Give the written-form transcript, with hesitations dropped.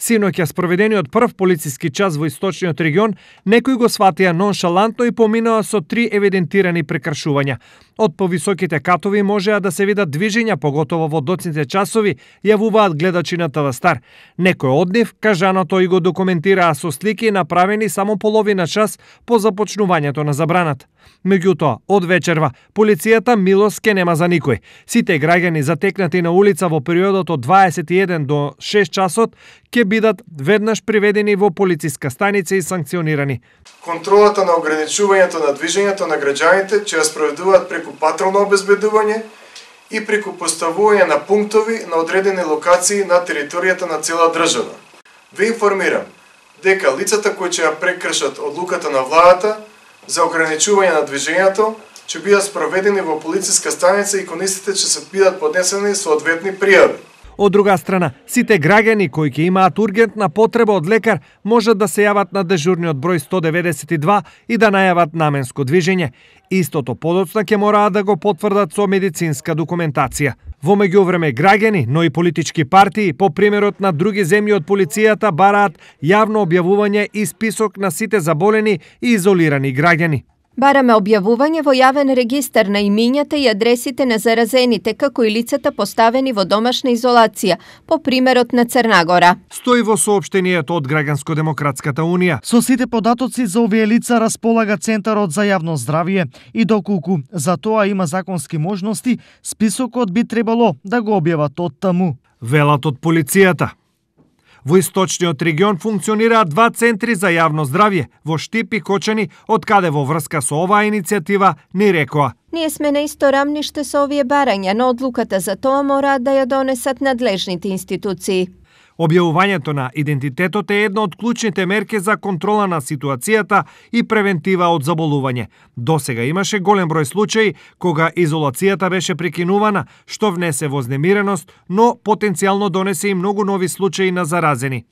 Синоќа спроведениот прв полициски час во источниот регион, некои го сватија ноншалантно и поминаа со 3 евидентирани прекршувања. Од повисоките катови можеа да се видат движења, поготово во доцните часови, јавуваат гледачи на ТВ Стар. Некој од нив, кажаното и го документираа со слики направени само половина час по започнувањето на забраната. Меѓутоа, од вечерва, полицијата милост ке нема за никој. Сите граѓани затекнати на улица во периодот од 21 до 6 часот ќе бидат веднаш приведени во полициска станица и санкционирани. Контролата на ограничувањето на движењето на граѓаните ќе ја спроведуваат преку патролно обезбедување и преку поставување на пунктови на одредени локации на територијата на цела држава. Ве информирам дека лицата кои ќе ја прекршат одлуката на владата за ограничување на движењето ќе бидат спроведени во полициска станица и кон истите ќе се бидат поднесени соодветни пријави. Од друга страна, сите граѓани кои ќе имаат ургентна потреба од лекар можат да се јават на дежурниот број 192 и да најават наменско движење. Истото подоцна ќе мораат да го потврдат со медицинска документација. Во меѓувреме граѓани, но и политички партии, по примерот на други земји од полицијата, бараат јавно објавување и список на сите заболени и изолирани граѓани. Бараме објавување во јавен регистар на имињата и адресите на заразените, како и лицата поставени во домашна изолација, по примерот на Црна Гора. Стои во соопштенијето од Граѓанско-демократската унија. Со сите податоци за овие лица располага Центарот за јавно здравје и доколку за тоа има законски можности, списокот би требало да го објават од таму. Велат од полицијата. Во источниот регион функционираат 2 центри за јавно здравје во Штип и Кочани, од каде во врска со оваа иницијатива ни рекоа: Ние сме на исто рамниште со овие барања, но одлуката за тоа мораат да ја донесат надлежните институции. Објавувањето на идентитетот е една од клучните мерки за контрола на ситуацијата и превентива од заболување. Досега имаше голем број случаи кога изолацијата беше прекинувана, што внесе вознемиреност, но потенцијално донесе и многу нови случаи на заразени.